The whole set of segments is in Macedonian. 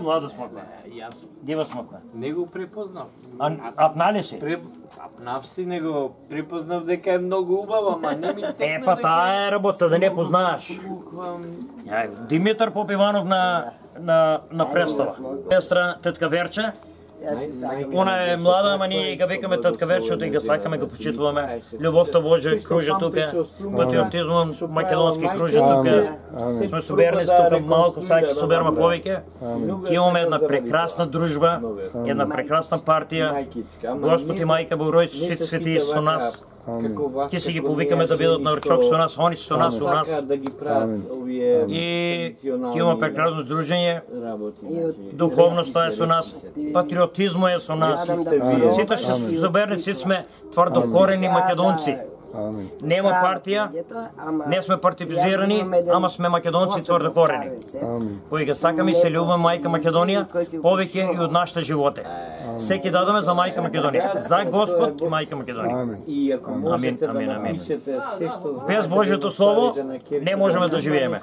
млада смоква? Јас Дива смоква. не го препознав. Апнали си? Апнав си, не го препознав дека е многу убава, ама не ми текна. Па таа е работа, да не познаеш. Буквално. Димитар Попиванов на представа. Сестра Тетка Верче. Она е млада, ама ние га викаме Тетка Верче, и га сакаме, го почитуваме. Љубовта Божја кружи тука, патриотизмот македонски кружи тука. Сме соберни тука малку, сајќи собераме повеќе. Имаме една прекрасна дружба, една прекрасна партија. Господ и Мајка Богородица, сите светии со нас. Ке си ги повикаме да бидат на ручок со нас, они со нас, у нас. И ке имаме прекрасно дружење, духовноста е со нас, патриотизмо е со нас. Сите што соберни, сите сме тврдо корени македонци. Нема партија, не сме партизирани, ама сме македонци тврдо корени. Кои ги сакаме и се љубиме мајка Македонија, повеќе и од нашите животи. Секи дадаме за мајка Македонија, за Господ и мајка Македонија. Амин, амин, амин. Без Божјото слово не можеме да живееме.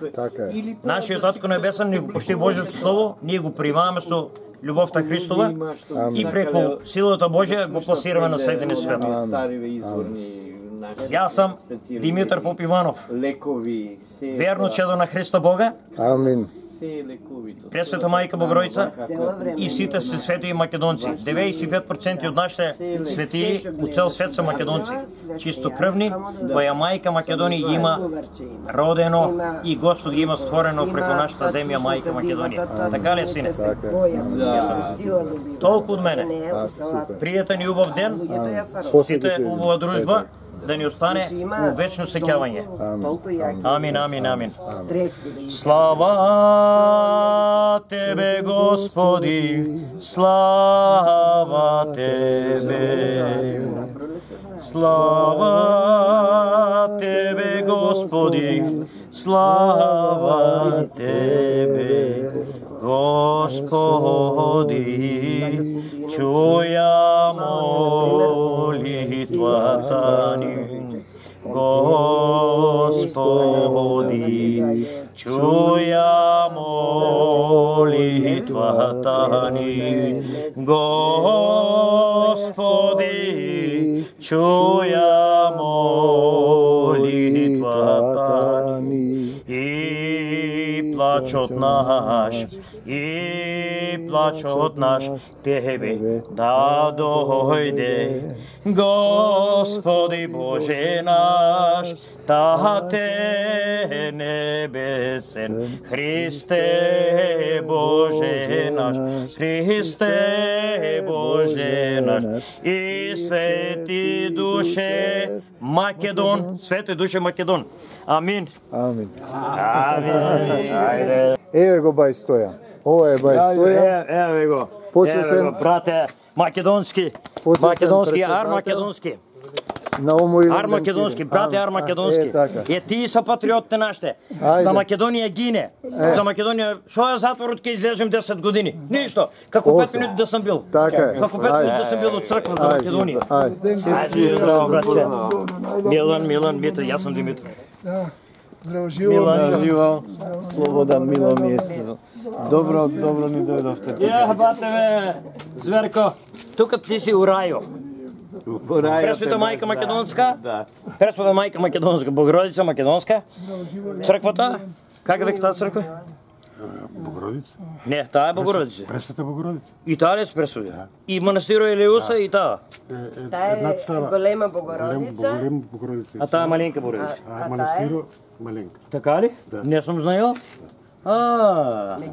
Нашиот Татко Небесен ни го пушти Божјото слово, ние го примаваме со љубовта Христова и преку силата Божја го пласираме на седени светот. Јас сум Димитар Попиванов, верно чедо на Христа Бога. Амин. Пресвета Мајка Богородица и сите се светии македонци. 95% од нашите светии у цел свет се македонци. Чистокрвни, која Мајка Македонија има родено и Господ ги има створено преку нашата земја Мајка Македонија. Така ли, сине? Толку од мене. Пријатен и убав ден, сите убава дружба, да ни остане у вечно сеќавање. Амин, амин, амин. Слава Тебе, Господи, слава Тебе. Слава Тебе, Господи, слава Тебе. Господи, чуја молитвата ни. Господи, чуја молитвата ни. Господи, чуја молитвата ни. И плачот наш, и плачот наш Тебе да дојде. Господи Боже наш, Тате небесен, Христе Боже наш, Христе Боже наш, и свети душе Македон, свети душе Македон. Амин. Амин. Амин. Еве го бај Стојан. Ова е бај Стојан. Еве го. Почесен, брате, македонски. Македонски, ар македонски. Ар македонски, брате, ар македонски. Тие се патриотите нашите. За Македонија гине. За Македонија, шо ја затворот ке излежем 10 години? Ништо. Како 5 минути да сам бил. Така е. Како 5 минути да сам бил од црква за Македонија. Ајде, здраво, братче. Милан, Митро, јас сум Димитро. Здраво живо. Милан живо. Слободан, мило место. Добро ни дојдовте. Бате ме, зверко. Тука ти си у рајо. Пресвета Мајка Македонска, Пресвета Мајка Македонска, Богородица Македонска, црквата, како веќе таа црква? Богородица? Не, таа е Богородица. Пресвета Богородица? И таа е Пресвета. И манастиро Елеуса и таа. Таа е голема Богородица. Голема Богородица. А таа е маленка Богородица. А манастиро маленка. Така ли? Не сум знаел.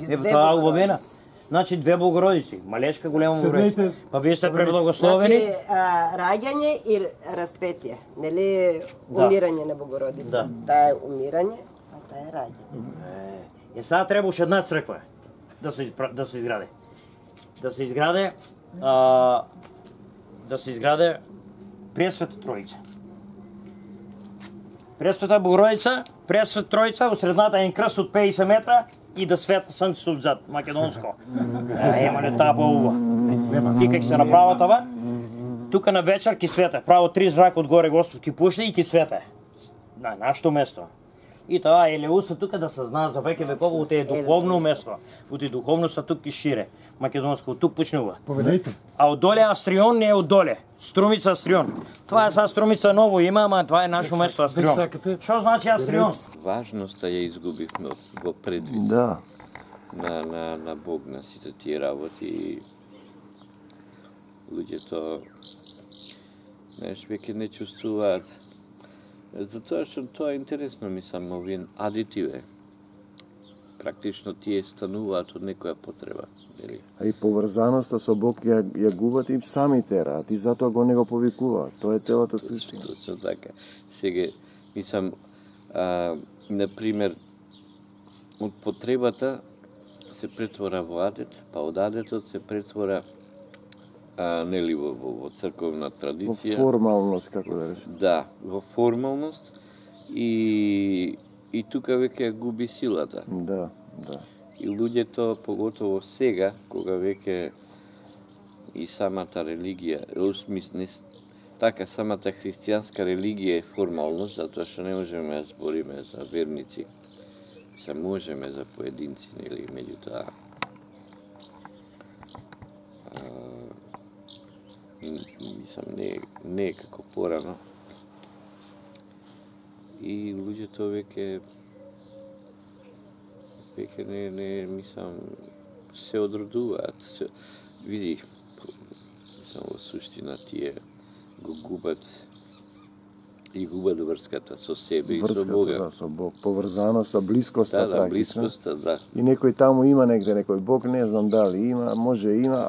Ево таа убавена. Значи две Богородици, малечка, голема Богородица. Па вие сте преблагословени. Значи раѓање и распетие, нели умирање на Богородица. Таа е умирање, а таа е раѓање. Сега треба уште една црква да се изгради. Да се изграде Пресвета Тројица. Пресвета Богородица, Пресвета Тројица, у средната е крст од 50 метра и да света сонцето отзад, македонско. Ема ли таа поуба. И како се направа това, тука на вечер ки свете, право 3 зрака одгоре Господ ки пушти и ки свете. На нашето место. И тоа Елеуса тука да се знае за веќе векова у тие духовно место, у тие духовноста тук ки шире. Македонско тук почнува. Поведете. А одоле Астрион не е одоле. Струмица Астрион. Това е са Струмица ново има, ама това е нашо место Астрион. Што значи Астрион? Важноста ја изгубивме во предвид. Да. На Бог, на сите тие работи. Луѓето, знаеш, веќе не чувствуваат. Затоа што тоа е интересно, мислам, овие адитиве. Практично тие стануваат од некоја потреба. Нели? А и поврзаноста со Бог ја губат им сами терат и затоа го не го повикуваат. Тоа е целата суштина. Точно така. Сега, мислам, например, од потребата се претвора во адет, па од адетот се претвора нели во црковна традиција. Во формалност, како да речем. Да, во формалност и тука веќе губи силата. Да. И луѓето, поготово сега, кога веќе и самата религија, така, самата христијанска религија е формалност, затоа што не можеме да збориме за верници, се можеме за поединци, нели, меѓутоа мислам, не е како порано. И луѓето веќе не мислам, се одродуваат. Види, мислам, во суштина тие го губат врската со себе и со Бога. Да, со Бог. Поврзаноста, блискоста. Да, блискоста, да. И некој таму има негде, некој Бог, не знам дали има, а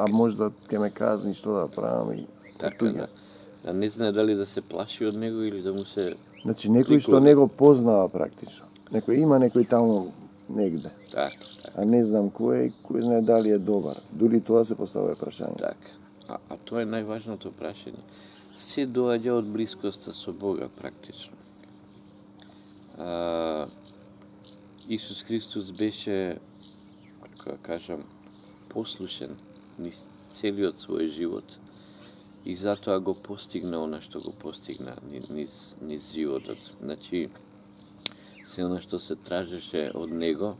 може да ќе ме казни што да правам и така, да. А не знае дали да се плаши од него или да му се... Значи, некој што не го познава практично. Некој има некој таму негде. Така. А не знам кој знае дали е добар. Дури тоа се поставува прашање. Така. А тоа е најважното прашање. Се доаѓа од блискоста со Бога практично. Исус Христос беше, како да кажам, послушен низ целиот свој живот и затоа го постигна она што го постигна низ животот. Значи, се она што се тражеше од него,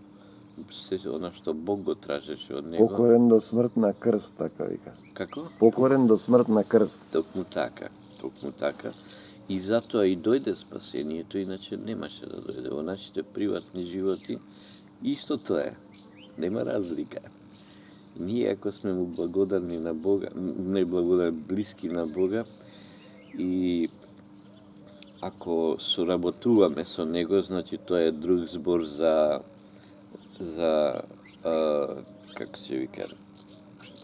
се она што Бог го тражеше од него. Покорен до смрт на крст, така вика. Како? Покорен до смрт на крст. Токму така. И затоа и дојде спасението, иначе немаше да дојде. Во нашите приватни животи исто тоа е. Нема разлика. Ние, ако сме му благодарни на Бога, блиски на Бога, и ако соработуваме со Него, значи тоа е друг збор за како се вика,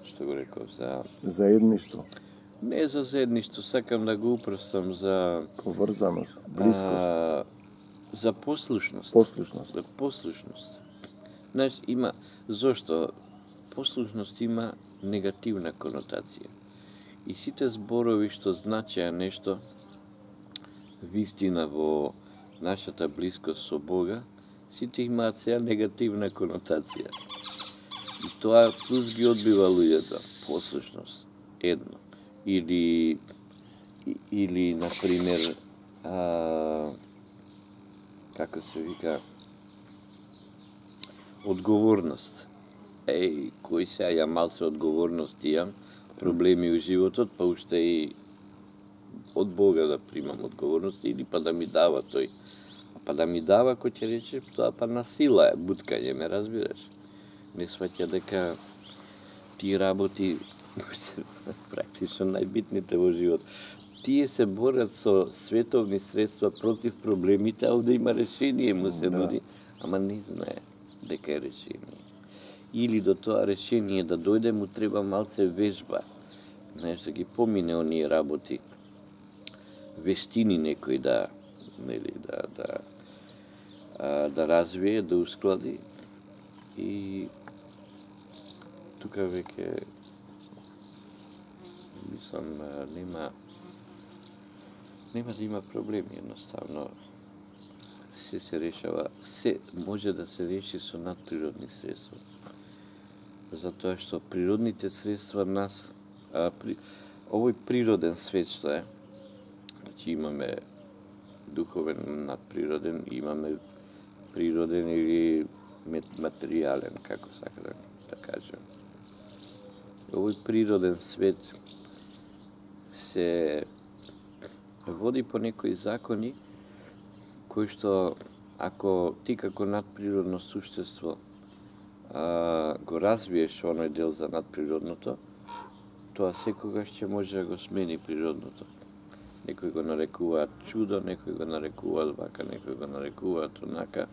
што го реков, за... Заедништво. Не за заедништво, сакам да го упростам за... Поврзаност, близкост. За послушност. Послушност. За послушност. Знаеш, има... Зошто? Послушност има негативна конотација. И сите зборови што значеа нешто, вистина во нашата близкост со Бога, сите имаат сега негативна конотација. И тоа плюс ги одбива луѓето. Послушност. Едно. Или например, како се вика, одговорност. Кој сега ја малце одговорност имам, проблеми у животот, па уште и од Бога да примам одговорност, или па да ми дава тој. Па да ми дава, кој ќе рече, тоа па на сила е, буткање, ме разбираш. Не сваќа дека тие работи практично најбитните во живот. Тие се борат со световни средства против проблемите, а овде има решение, му се нуди, ама не знае дека е решение. Или до тоа решение да дојде, му треба малце вежба. Знаеш, да ги помине оние работи, вештини некој да развие, да усклади. И тука веќе мислам нема да има проблеми, едноставно се решава, се може да се реши со надприродни средства. Затоа што природните средства нас, овој природен свет што е, значи имаме духовен надприроден, имаме природен или материјален, како сака да кажем. Овој природен свет се води по некои закони кои што ако ти како надприродно суштество го развиеш оној дел за надприродното, тоа секогаш ќе може да го смени природното. Некои го нарекуваат чудо, некои го нарекуваат вака, некои го нарекуваат онака.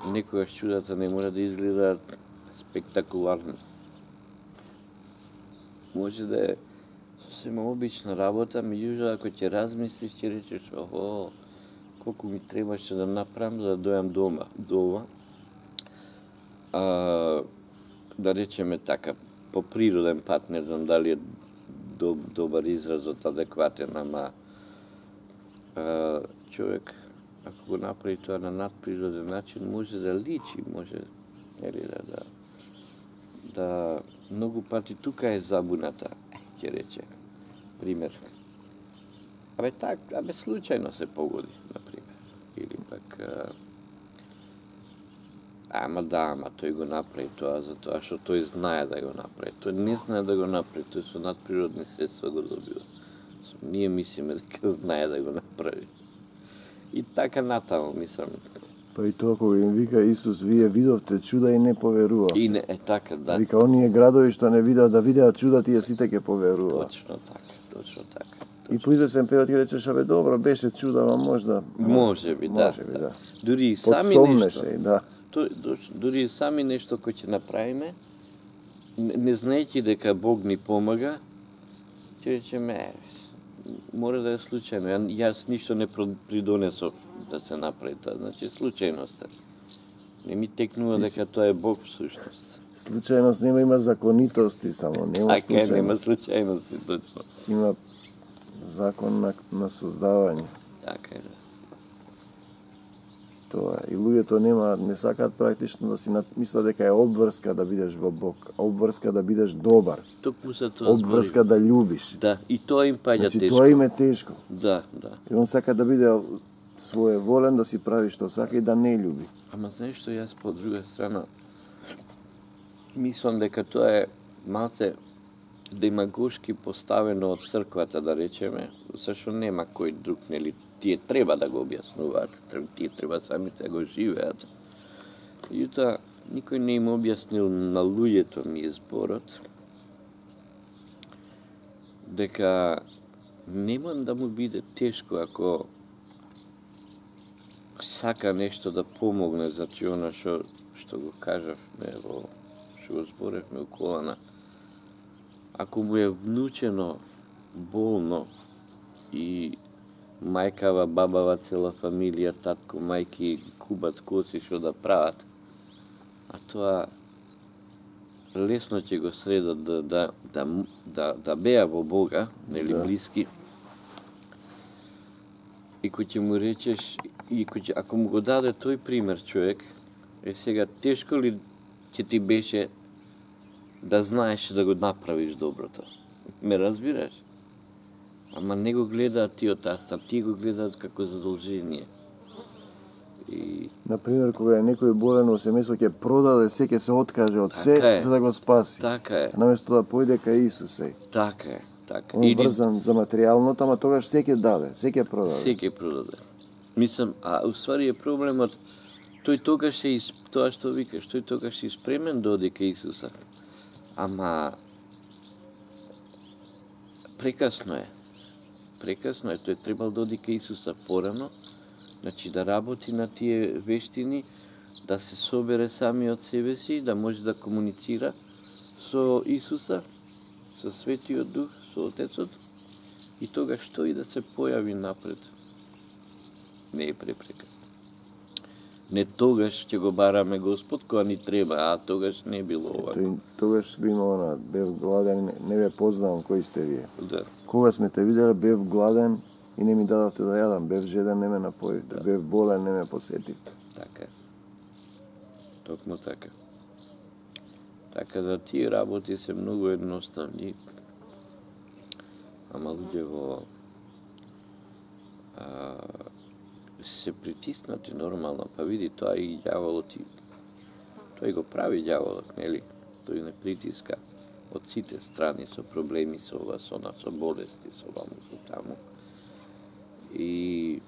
Некогаш чудата не мора да изгледаат спектакуларно. Може да е сосема обична работа, меѓутоа ако ќе размислиш, ќе речеш, охо, колку ми требаше да направам за да дојам дома. Да речеме така, по природен пат, не знам дали е добар изразот, адекватен, ама човек, ако го направи тоа на надприроден начин, може да личи, може да многу пати тука е забуната, ќе рече. Пример. Абе случајно се погоди, например. Или пак ама тој го направи тоа затоа што тој знае да го направи. Тој не знае да го направи, тој со надприродни средства го добива. Ние мислиме дека знае да го направи. И така натаму, мислам. Па и тоа кога им вика Исус, вие видовте чуда и не поверува. И не, така, да. Вика, оние градови што не видеа да видеат чуда, тие сите ќе поверува. Точно така. И по извесен период ќе речеш, абе добро, беше чуда, ама можда... Може би, да. Дури и сами подсомнеше, нешто. да. Дури и сами нешто кој ќе направиме, не знаејќи дека Бог ни помага, ќе речеме, мора да е случајно. Јас ништо не придонесов да се направи тоа, значи случајност. Не ми текнува дека тоа е Бог всушност. Случајност нема, има законитости само, нема случајност. Така нема случајности, точно. Има закон на создавање. Така е, да. Тоа и луѓето не сакаат практично да си мислат дека е обврска да бидеш во Бог, обврска да бидеш добар. Токму се тоа обврска да љубиш. Да, и тоа им паѓа тешко. Значи тоа им е тешко. Да. И он сака да биде своеволен, да си прави што сака и да не љуби. Ама знаеш што, јас по друга страна мислам дека тоа е малце демагошки поставено од црквата, да речеме, зашто нема кој друг, нели, тие треба да го објаснуваат, тие треба самите да го живеат. Јута, никој не им објаснил на луѓето ми зборот, дека нема да му биде тешко ако сака нешто да помогне, значи она што го кажавме што го зборевме у колана. Ако му е внучено болно и мајкава, бабава, цела фамилија, татко, мајки кубат коси што да прават, а тоа лесно ќе го средат да беа во Бога, нели, блиски. И кој ќе му речеш, ако му го даде тој пример човек, сега тешко ли ќе ти беше да знаеш да го направиш доброто? Ме разбираш? Ама не го гледаат тие од таста, тие го гледаат како задолжение. Например, кога е некој болен во семејство, ќе продаде се, ќе се откаже од се, за да го спаси. Така е. Наместо да појде кај Исусе. Така е. Он врзан за материјалното, ама тогаш се ќе даде, се ќе продаде. Се ќе продаде. Мислам, а уствари е проблемот, тој тогаш е тоа што викаш, тој тогаш е спремен да оди кај Исуса. Ама прекасно е. Тој требал да оди кај Исуса порано, значи да работи на тие вештини, да се собере сами од себе си, да може да комуницира со Исуса, со Светиот Дух, со Отецот, и тогаш тој да се појави напред. Не е препрека. Не тогаш ќе го бараме Господ, кога ни треба, а тогаш не било овако. Тогаш би имало бев гладен, не ве познавам кои сте вие. Да. Кога сме те виделе, бев гладен и не ми дадовте да јадам, бев жеден, не ме напоивте, бев болен, не ме посетивте. Така е. Токму така. Така да тие работи се многу едноставни, ама луѓе во се притиснати нормално, па види тоа и ѓаволот тој го прави ѓаволот, нели? Тој не притиска од сите страни со проблеми, со ова, со она, со болести, со ваму, со таму. И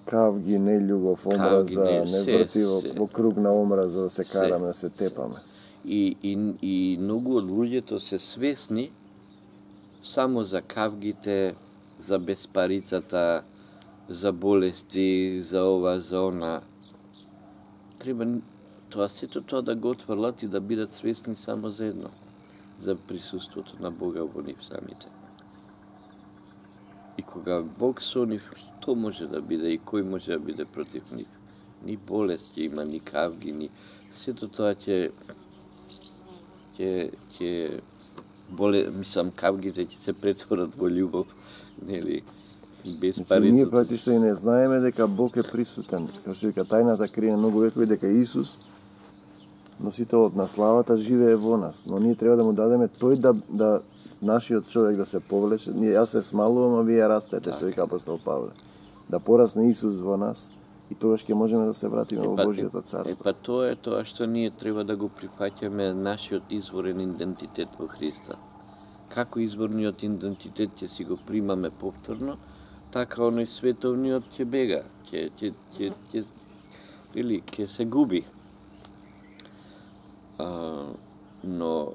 кавги, нељубов, омраза, не врти во круг на омраза да се караме, да се тепаме. И многу од луѓето се свесни само за кавгите, за безпарицата, за болести, за ова, за она. Треба сето тоа да го отврлат и да бидат свесни само за едно, за присуството на Бога во нив самите. И кога Бог со нив, што може да биде и кој може да биде против нив? Ни болест ќе има, ни кавги, ни сето тоа ќе кавгите ќе се претворат во љубов, нели? Без пари. Ние практично и не знаеме дека Бог е присутен. Како што вика, тајната крие многу векови дека Исус, носителот на славата, живее во нас. Но ние треба да му дадеме тој да нашиот човек да се повлече. Јас се смалувам, а вие растете, што вика апостол Павле. Да порасне Исус во нас и тогаш ќе можеме да се вратиме во Божјото царство. Тоа е тоа што ние треба да го прифаќаме нашиот изворен идентитет во Христа. Како изворниот идентитет ќе си го примаме повторно, така оној световниот ќе бега, ќе се губи. Но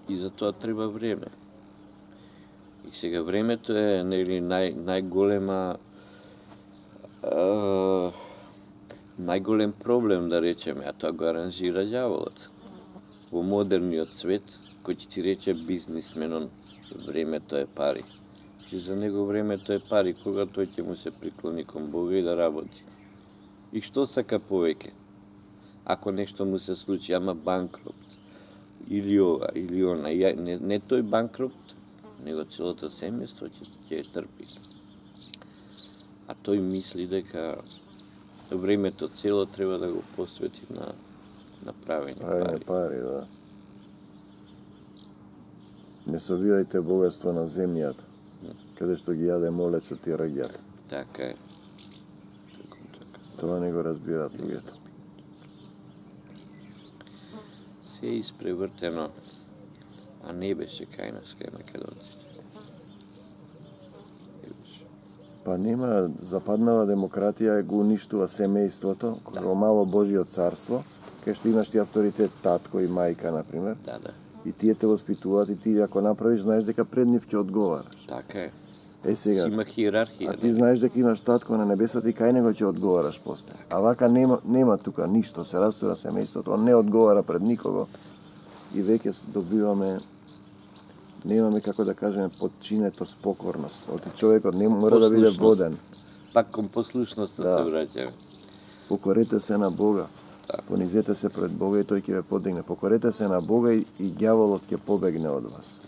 и за тоа треба време. И сега времето е, нели, најголем проблем, да речеме, а тоа го аранжира ѓаволот. Во модерниот свет, кој ќе ти рече бизнисменон, времето е пари. И за него времето е пари, кога тој ќе му се приклони кон Бога и да работи. И што сака повеќе? Ако нешто му се случи, ама банкрот, или ова, или она, не тој банкрот, него целото семејство ќе трпи. А тој мисли дека времето цело треба да го посвети на правење пари, да. Не собирајте богатство на земјата, каде што ги јаде молецот и раѓата. Така е. Тоа не го разбираат луѓето. Се е испревртено, а не беше кај нас, кај македонците. Па нема, западнава демократија го уништува семејството, како мало Божјо царство, кај што имаш ти авторитет татко и мајка, например. Да. И тие те воспитуваат и ти ако направиш, знаеш дека пред нив ќе одговараш. Така е. Сега, има хиерархија. А ти знаеш дека имаш татко на небесата и кај него ќе одговараш после. А вака нема тука ништо, се растура семејството, он не одговара пред никого. И веќе немаме, како да кажеме, подчинетост, покорност. Оти човекот не мора да биде воден. Пак кон послушноста се враќаме. Покорете се на Бога. Понизете се пред Бога и тој ќе ве подигне. Покорете се на Бога и ѓаволот ќе побегне од вас.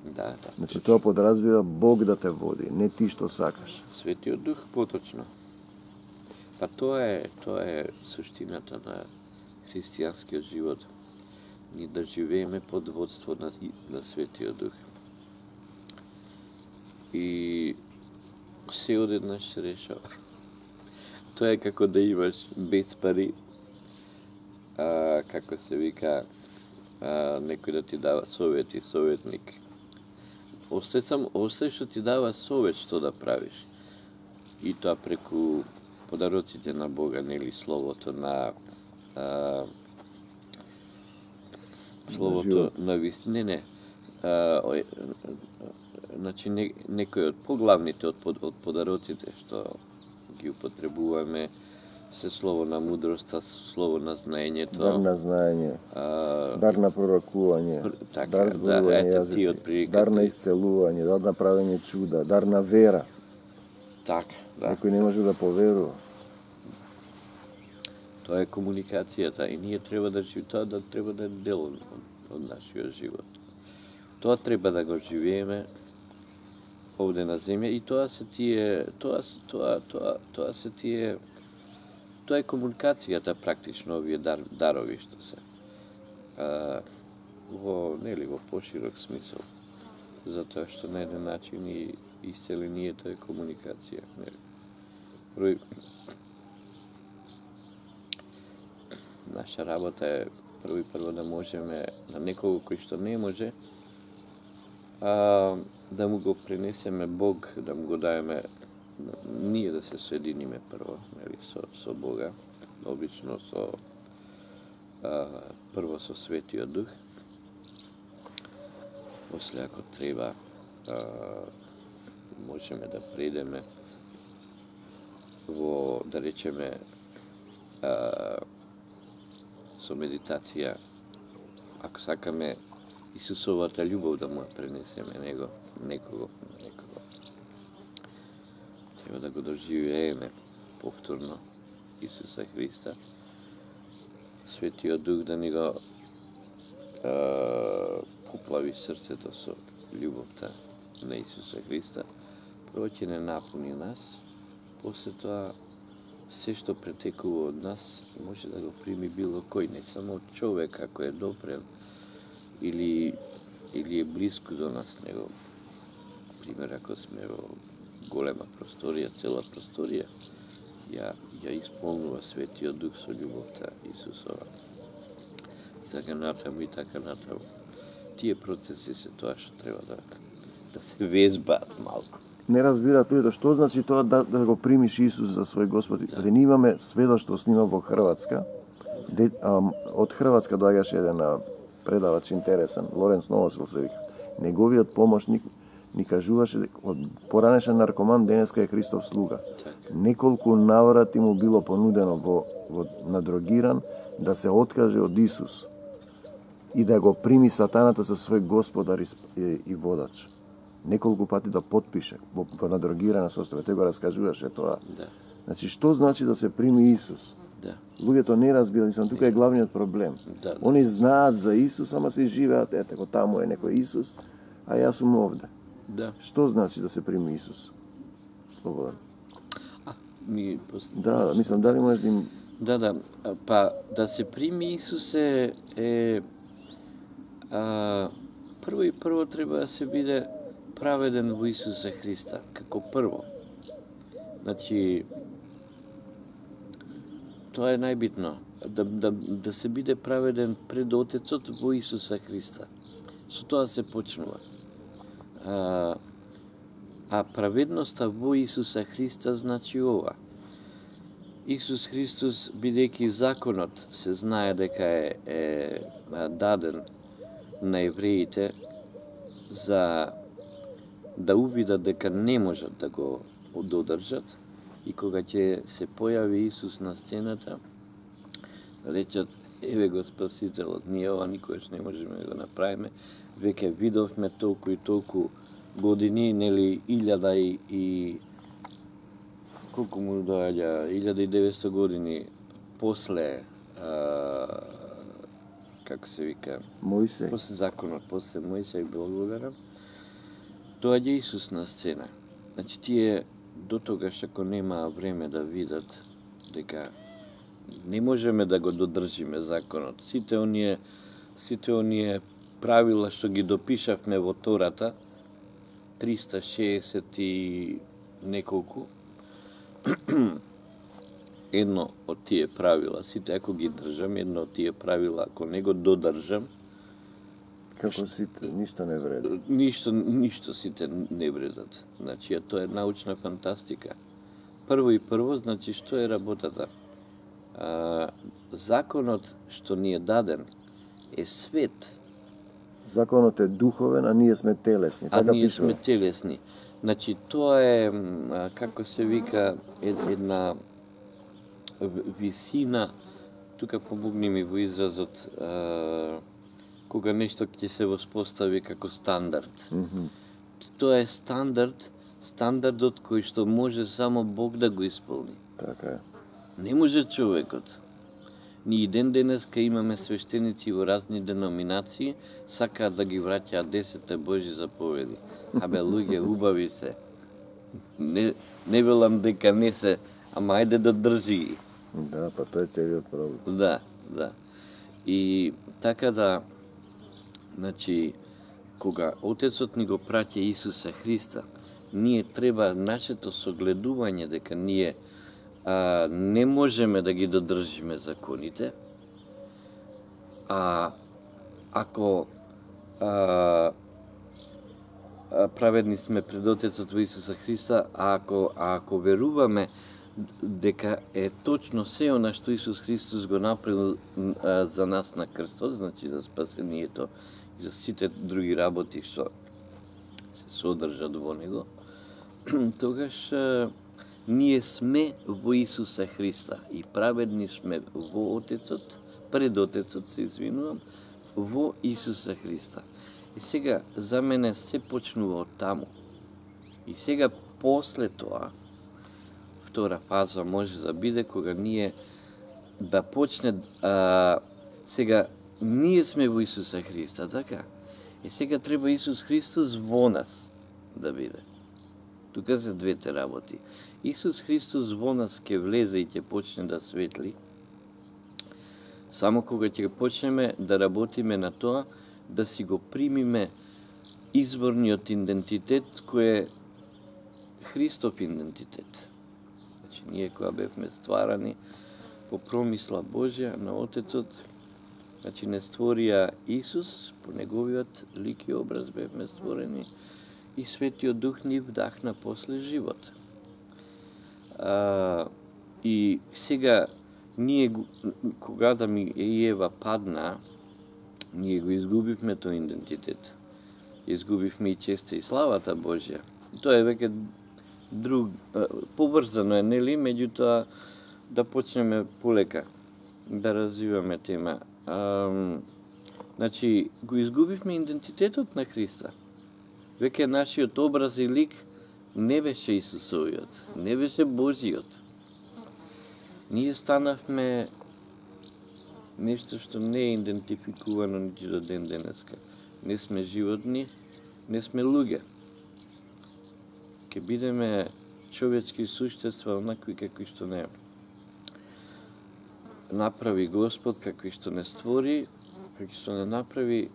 Да. Значи тоа подразбира Бог да те води, не ти што сакаш. Светиот Дух поточно. Па тоа е суштината на христијанскиот живот. Ни да живееме под водство на Светиот Дух. И се одеднаш се решава. Тоа е како да имаш без пари, како се вика, некој да ти дава совети, советник. Осте што ти дава совет што да правиш. И тоа преку подароците на Бога, нели, словото на словото на вистина. Не. Значи некои од поглавните од подароците што ги употребуваме се слово на мудроста, слово на знаењето. Дар на знаење, дар на пророкување, дар зборување јазици, дар на исцелување, дар на правење чуда, дар на вера. Така, да. Некој не може да поверува. Тоа е комуникацијата и ние треба да треба да е дел од нашиот живот. Тоа треба да го живееме овде на земја и тоа е комуникацијата практично овие дарови што се. Во поширок смисол. Затоа што на еден начин и исцелението е комуникација, нели? Наша работа е прво да можеме на некого кој што не може, да му го пренесеме Бог, да му го даеме, ние да се соединиме прво, нели, со Бога, обично прво со Светиот Дух, после ако треба можеме да предеме во, да речеме, со медитација, ако сакаме Исусовата љубов да му пренесеме некого. Треба да го доживееме повторно Исуса Христа. Светиот Дух да ни го поплави срцето со љубовта на Исуса Христа. Прво ќе не напуни нас, после тоа се што претекува од нас може да го прими било кој, не само човек ако е допрем или е близко до нас него. Пример, ако сме во голема просторија, цела просторија, ја исполнува Светиот Дух со љубовта Исусова. И така натаму. Тие процеси се тоа што треба да се везбаат малку. Не разбираат луѓето што значи тоа да го примиш Исус за свој Господ. Да. Ние имаме сведоштво снима во Хрватска. Од Хрватска доаѓаше еден предавач интересен, Лоренц Новосел се вика. Неговиот помошник ни кажуваше дека од поранешен наркоман денеска е Христов слуга. Неколку наврати му било понудено во надрогиран да се откаже од Исус и да го прими сатаната за свој господар и водач. Неколку пати да потпише во надрогирана состојба. Тој го раскажуваше тоа. Да. Значи, што значи да се прими Исус? Да. Луѓето не разбираат, мислам, тука е главниот проблем. Да. Они знаат за Исус, ама се живеат, ете, таму е некој Исус, а јас сум овде. Да. Што значи да се прими Исус? Слободен. Да, мислам, дали можеш да им... Да, па да се прими Исус прво треба да се биде праведен во Исуса Христа, како прво. Значи, тоа е најбитно, да се биде праведен пред Отецот во Исуса Христа. Со тоа се почнува. А праведноста во Исуса Христа значи ова. Исус Христос, бидејќи законот се знае дека е даден на евреите за да увидат дека не можат да го додржат, и кога ќе се појави Исус на сцената, речат, еве го Спасителот, ние ова никогаш не можеме да го направиме, веќе видовме толку и толку години, нели, 1000 и колку му доаѓа, 1900 години после како се вика, Мојсей. После законот, после Мојсей благодарам, доаѓа Исус на сцена. Значи тие до тогаш ако нема време да видат дека не можеме да го додржиме законот. Сите оние правила што ги допишавме во Тората, 360 и неколку, едно од тие правила, сите ако ги држам, едно од тие правила, ако не го додржам, како сите, ништо не вреди. Ништо сите не вредат. Значи, тоа е научна фантастика. Прво, значи, што е работата? Законот што ни е даден е свет. Законот е духовен, а ние сме телесни. А ние сме телесни. Значи, тоа е, како се вика, една висина, тука помогни ми во изразот, кога нешто ќе се воспостави како стандард. Тоа е стандардот кој што може само Бог да го исполни. Така е. Не може човекот. Ние ден денеска имаме свештеници во разни деноминации, сакаат да ги враќаат 10 Божји заповеди. Абе, луѓе, убави се. Не велам дека не се, ама ајде да држи ги. Да, па тоа е целиот проблем. Да. И така да, значи, кога Отецот ни го праќа Исуса Христа, ние треба нашето согледување дека ние не можеме да ги додржиме законите, ако праведни сме пред Отецот во Исуса Христа, ако веруваме дека е точно се она што Исус Христос го направил за нас на крстот, значи за спасението и за сите други работи што се содржат во него, тогаш ние сме во Исуса Христа и праведни сме во Отецот, пред Отецот, се извинувам, во Исуса Христа. И сега, за мене се почнува од таму. И сега, после тоа, втора фаза може да биде кога ние да почне, сега, ние сме во Исуса Христа, така? И сега треба Исус Христос во нас да биде. Тука се двете работи. Исус Христос во нас ќе влезе и ќе почне да светли, само кога ќе почнеме да работиме на тоа, да си го примиме изворниот идентитет кој е Христов идентитет. Значи, ние кога бевме стварани по промисла Божја на Отецот, значи не створија Исус, по неговиот лик и образ бевме створени, и Светиот Дух ни вдахна после живот. И сега, ние, кога Адам и Ева падна, ние го изгубивме тој идентитет. Изгубивме и честа и славата Божја. Тоа е веќе друг, поврзано е, нели, меѓутоа да почнеме полека да развиваме тема. Значи, го изгубивме идентитетот на Христа. Веќе нашиот образ и лик не беше Исусовиот, не беше Божиот. Ние станавме нешто што не е идентификувано нити до ден денеска. Не сме животни, не сме луѓе. Ке бидеме човечки суштества онакви какви што не направи Господ, какви што не створи, какви што не направи,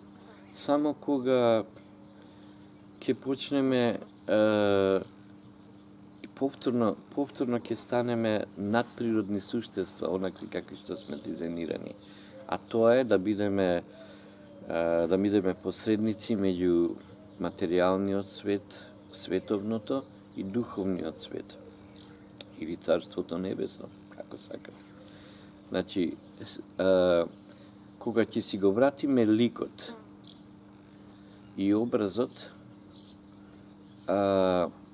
само кога ќе почнеме повторно ќе станеме надприродни суштества, онакви какви што сме дизајнирани. А тоа е да бидеме посредници меѓу материјалниот свет, световното и духовниот свет. Или Царството Небесно, како сакате. Значи, кога ќе си го вратиме ликот и образот,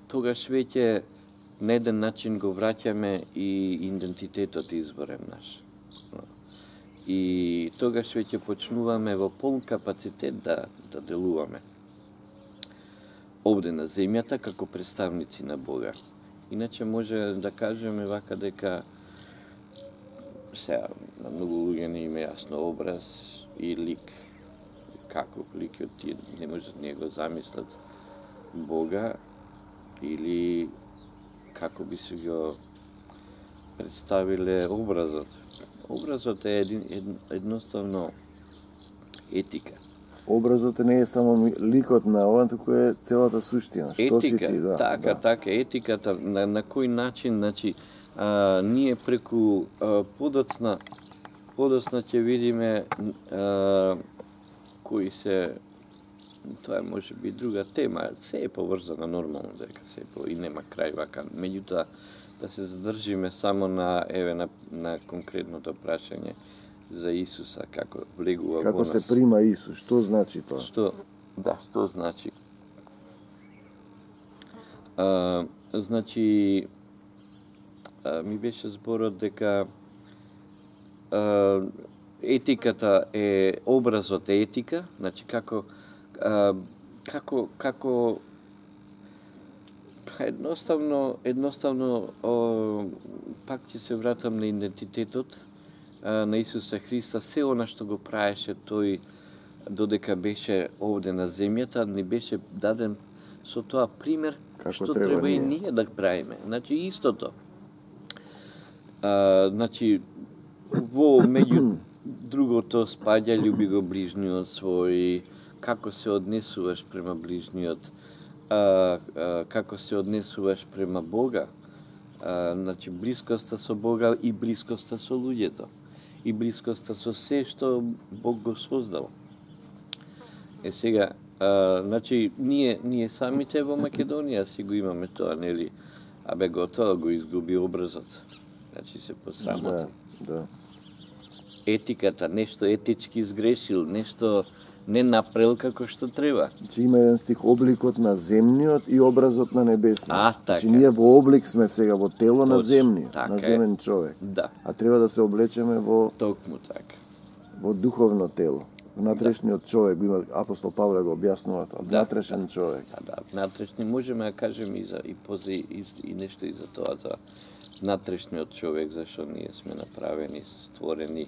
тогаш веќе на еден начин го враќаме и идентитетот изворен наш. И тогаш веќе почнуваме во полн капацитет да делуваме овде на земјата како представници на Бога. Иначе може да кажеме вака дека сега на многу луѓе не има јасно образ и лик. Каков ликот тие не можат да го замислат Бога или како би се го представиле образот. Образот е едноставно етика. Образот не е само ликот на ова, туку е целата суштина. Што си ти, да. Така, етиката, на кој начин, значи, ние преку подоцна ќе видиме кои се, тоа може би друга тема, се е поврзано нормално дека се и нема крај вака. Меѓутоа, да се задржиме само на конкретното прашање за Исуса, како влегува во нас. Како се прима Исус, што значи тоа? Што значи? Значи, ми беше зборот дека етиката е, образот е етика, значи како едноставно пак ќе се вратам на идентитетот на Исуса Христа, се она што го праеше тој додека беше овде на земјата, ни беше даден со тоа пример што треба и ние да правиме. Значи истото. Значи во меѓу другото спаѓа љуби го ближниот свој, како се однесуваш према ближниот, како се однесуваш према Бога, Значи, блискоста со Бога и блискоста со луѓето. И блискоста со се што Бог го создал. Сега, значи, ние самите во Македонија си го имаме тоа, нели? Абе, готово го изгуби образот. Значи, се посрамоти. Да. Етиката, нешто етички изгрешил, нешто не направил како што треба. Значи има еден стих, обликот на земниот и образот на небесниот. Така. Значи ние во облик сме сега, во тело на Точно, земниот, така на земен човек. Да. А треба да се облечеме во Токму така. во духовно тело. Внатрешниот човек, го има апостол Павле го објаснува тоа, внатрешен човек. Да, внатрешни можеме да кажеме и после и нешто и за тоа, за внатрешниот човек, зашто ние сме направени, створени,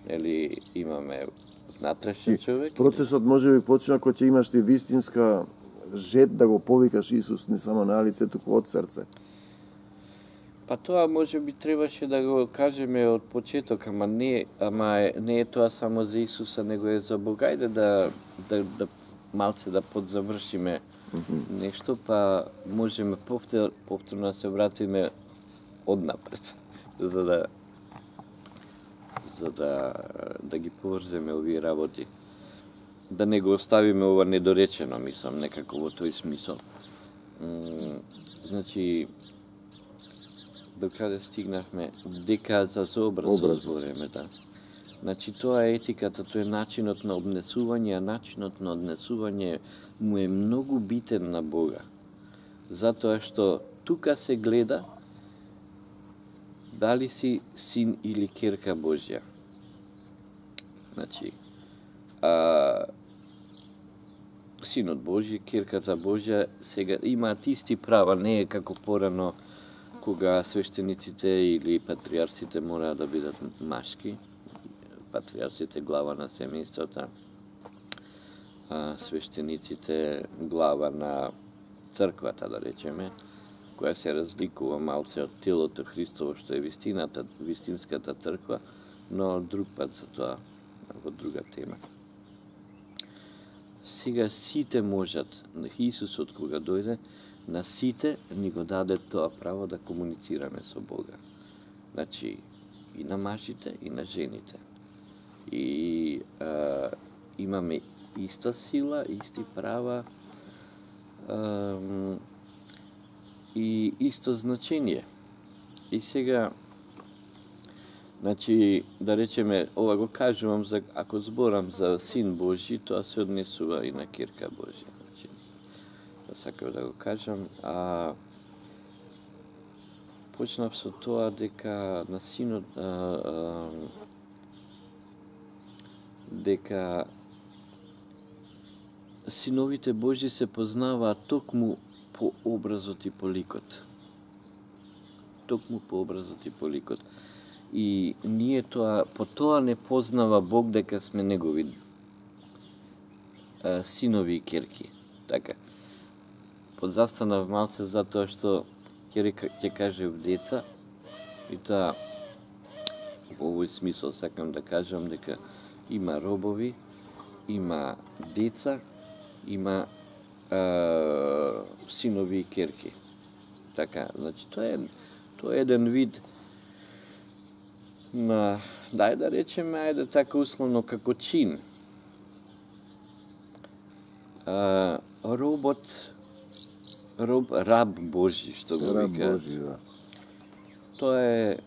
нели имаме внатрешен човек. Процесот може би почна кога ќе имаш ти вистинска жет да го повикаш Исус не само на лице, туку од срце. Па тоа може би требаше да го кажеме од почеток, ама не е тоа само за Исуса, него е за Бога. Ајде да малце да подзавршиме нешто, па можеме повторно да се вратиме однапред, за да ги поврземе овие работи. Да не го оставиме ова недоречено, мислам, некако во тој смисол. Значи, до каде стигнахме, дека за образ збориме, да. Значи, тоа е етиката, тоа е начинот на однесување, а начинот на однесување му е многу битен на Бога. Затоа што тука се гледа дали си син или керка Божја. Значи, синот Божји, керката Божја, сега имаат исти права, не е како порано кога свештениците или патриарсите мораат да бидат машки, патриарсите глава на семејството, свештениците глава на црквата, да речеме, која се разликува малце од телото Христово, што е вистинската црква, но друг пат за тоа, во друга тема. Сега сите можат, Исусот кога дојде, на сите ни го даде тоа право да комуницираме со Бога. Значи, и на мажите, и на жените. И имаме иста сила, исти права и исто значење. И сега, значи, да речеме, ова го кажувам, ако зборам за Син Божи, тоа се однесува и на керка Божја. Значи, сакав да го кажам, почнав со тоа дека на Синот, дека синовите Божи се познаваат токму по образот и по ликот. Токму по образот и по ликот. И ние по тоа не познава Бог дека сме негови синови и керки. Така. Подзастанав малце затоа што ќе кажев деца, и тоа во овој смисол сакам да кажам дека има робови, има деца, има синови и керки. Така, значи тоа е еден вид на, да речеме, ајде така условно како чин. Раб Божи, што го вика. Раб Божи, да. Тоа е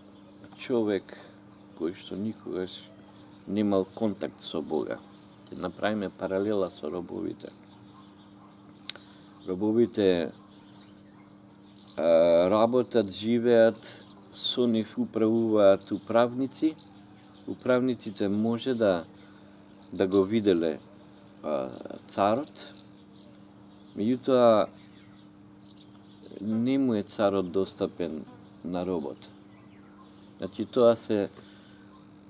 човек кој што никогаш немал контакт со Бога. Ќе направиме паралела со робовите. Робовите работат, живеат, со нив управуваат управници. Управниците може да го виделе царот, меѓутоа не му е царот достапен на робот. Значи тоа се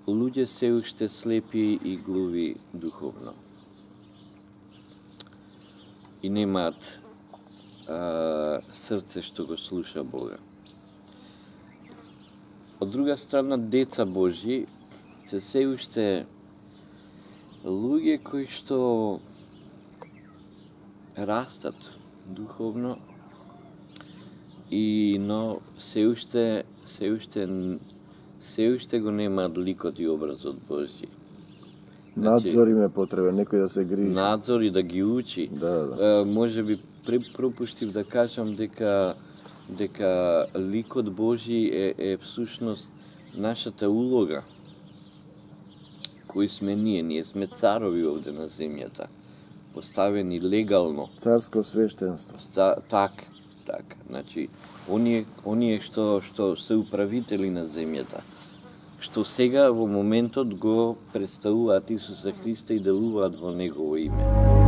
луѓе се уште слепи и глуви духовно. И немаат срце што го слуша Бога. Од друга страна, деца Божји се уште луѓе кои што растат духовно но се уште го немаат ликот и образот Божји. Надзор им е потребен, некој да се грижи. Надзор и да ги учи. Да. Може би пропуштив да кажам дека ликот Божји е всушност нашата улога кои сме ние сме царови овде на земјата, поставени легално. Царско свештенство. Така. Значи, оние што се управители на земјата, што сега во моментот го представуваат Исуса Христа и делуваат во Негово име.